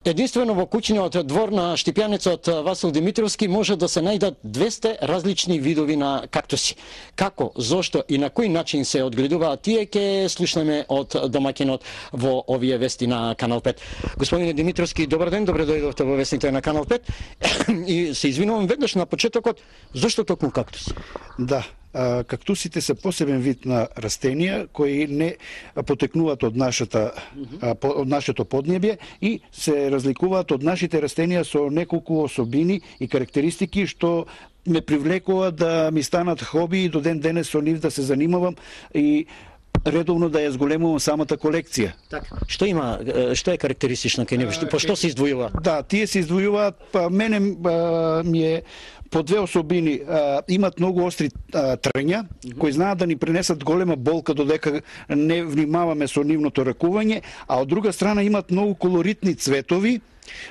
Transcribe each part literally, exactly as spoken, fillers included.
Единствено во куќниот двор на Штипјанецот Васил Димитровски може да се најдат двесте различни видови на кактуси. Како, зошто и на кој начин се одгледуваат тие ќе слушнеме од домаќинот во овие вести на Канал пет. Господине Димитровски, добар ден, добре дојдовте во вестите на Канал пет. И се извинувам веднаш на почетокот, зошто токму кактуси? Да, кактусите се посебен вид на растенија кои не потекнуваат од нашата од нашето поднебје и се разликуваат од нашите растенија со неколку особини и карактеристики што ме привлекува да ми станат хоби и до ден денес со нив да се занимавам и редовно да ја зголемувам самата колекција. Така. Што има, што е карактеристично кај него? По што се издвојува? Да, тие се издвојуваат, па мене а, ми е по две особини. А, имат многу остри а, трња, mm -hmm. кои знаат да ни пренесат голема болка додека не внимаваме со нивното ракување, а од друга страна имат многу колоритни цветови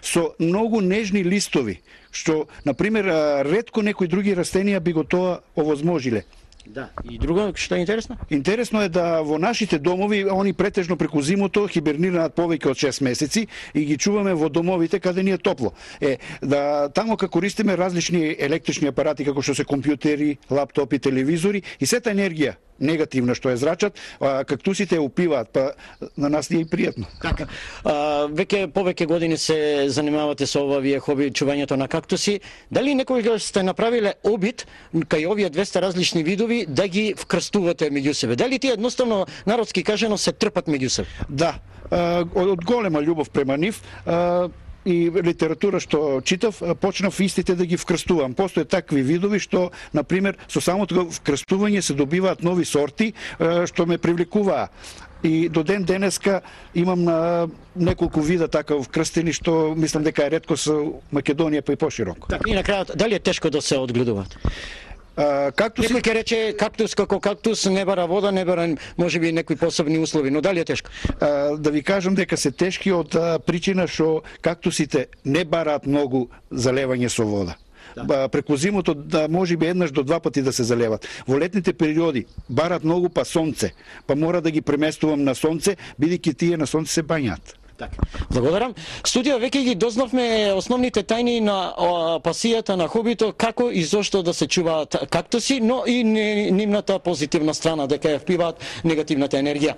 со многу нежни листови, што, например, ретко некои други растенија би го тоа овозможиле. Да, и друго што е интересно? Интересно е да во нашите домови они претежно преку зимото хибернираат повеќе од шест месеци и ги чуваме во домовите каде ни е топло. Е, да тамо како користиме различни електрични апарати како што се компјутери, лаптопи, телевизори и сета енергија негативна што е зрачат, а, кактусите ја упиваат, па на нас не е пријатно. Така. А, веќе повеќе години се занимавате со ова вие хоби чувањето на кактуси. Дали некогаш сте направиле обид кај овие двесте различни видови да ги вкрстувате меѓу себе? Дали тие едноставно народски кажано се трпат меѓу себе? Да, а, од голема љубов према нив, а, и литература што читав, почнав истите да ги вкрстувам. Постојат такви видови што, например, со самото вкрстување се добиваат нови сорти што ме привлекуваа. И до ден денеска имам на неколку вида така вкрстени што мислам дека е ретко со Македонија па и пошироко. Така, и на крајот, дали е тешко да се одгледуваат? Кактус... Некој ќе рече кактус како кактус не бара вода, не бара можеби некои посебни услови, но дали е тешко? А, да ви кажам дека се тешки од а, причина што кактусите не бараат многу залевање со вода. Да. Преку зимото да може би еднаш до два пати да се залеват. Во летните периоди бараат многу па сонце, па мора да ги преместувам на сонце, бидејќи тие на сонце се бањаат. Така. Благодарам. Студио веќе ги дознавме основните тајни на о, пасијата на хобито, како и зошто да се чуваат кактуси, но и нивната позитивна страна дека ја впиваат негативната енергија.